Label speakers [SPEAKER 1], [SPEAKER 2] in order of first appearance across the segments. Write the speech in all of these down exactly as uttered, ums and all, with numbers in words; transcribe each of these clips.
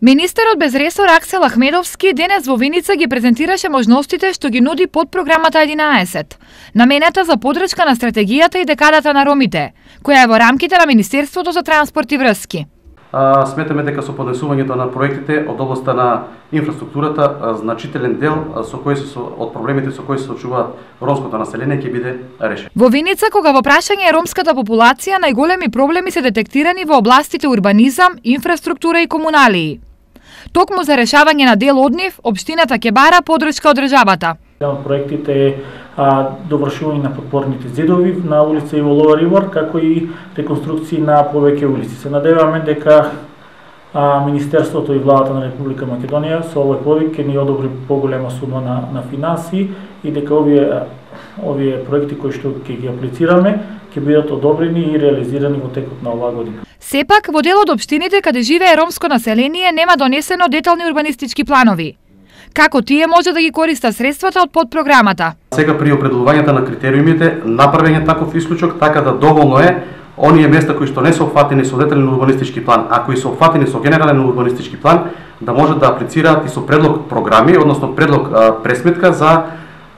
[SPEAKER 1] Министерот без ресор Аксел Ахмедовски денес во Виница ги презентираше можностите што ги нуди подпрограмата единаесет, наменета за подршка на стратегијата и декадата на ромите, која е во рамките на Министерството за транспорт и врски.
[SPEAKER 2] А, сметаме дека со поднесувањето на проектите од областа на инфраструктурата, а, значителен дел а, со кои се од проблемите со кои се соочуваат ромското население ќе биде решен.
[SPEAKER 1] Во Виница, кога во прашање е ромската популација, најголеми проблеми се детектирани во областите урбанизам, инфраструктура и комуналии. Токму за решавање на дел од нив, општината ќе бара подршка од државата.
[SPEAKER 3] Еден од проектите е а, довршување на подпорните зидови на улица Иво Ловар Ивор, како и реконструкции на повеќе улици. Се надеваме дека а, Министерството и владата на Република Македонија со овој подвиг ќе ни одобри поголема сума на, на финанси и дека овие, овие проекти кои што ќе ги аплицираме ќе бидат одобрени и реализирани во текот на оваа година.
[SPEAKER 1] Сепак, во дел од општините каде живее ромско население нема донесено детални урбанистички планови. Како тие може да ги користат средствата од подпрограмата?
[SPEAKER 2] Сега при определувањето на критериумите направен е таков исклучок, така да доволно е оние места кои што не се опфатени со детален урбанистички план, а кои се опфатени со генерален урбанистички план, да можат да аплицираат и со предлог програми, односно предлог а, пресметка за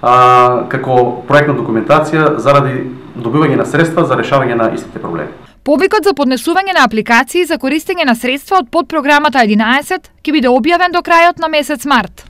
[SPEAKER 2] а, како проектна документација заради добивање на средства за решавање на истите проблеми.
[SPEAKER 1] Повикот за поднесување на апликации за користење на средства од подпрограмата единаесет ќе биде објавен до крајот на месец март.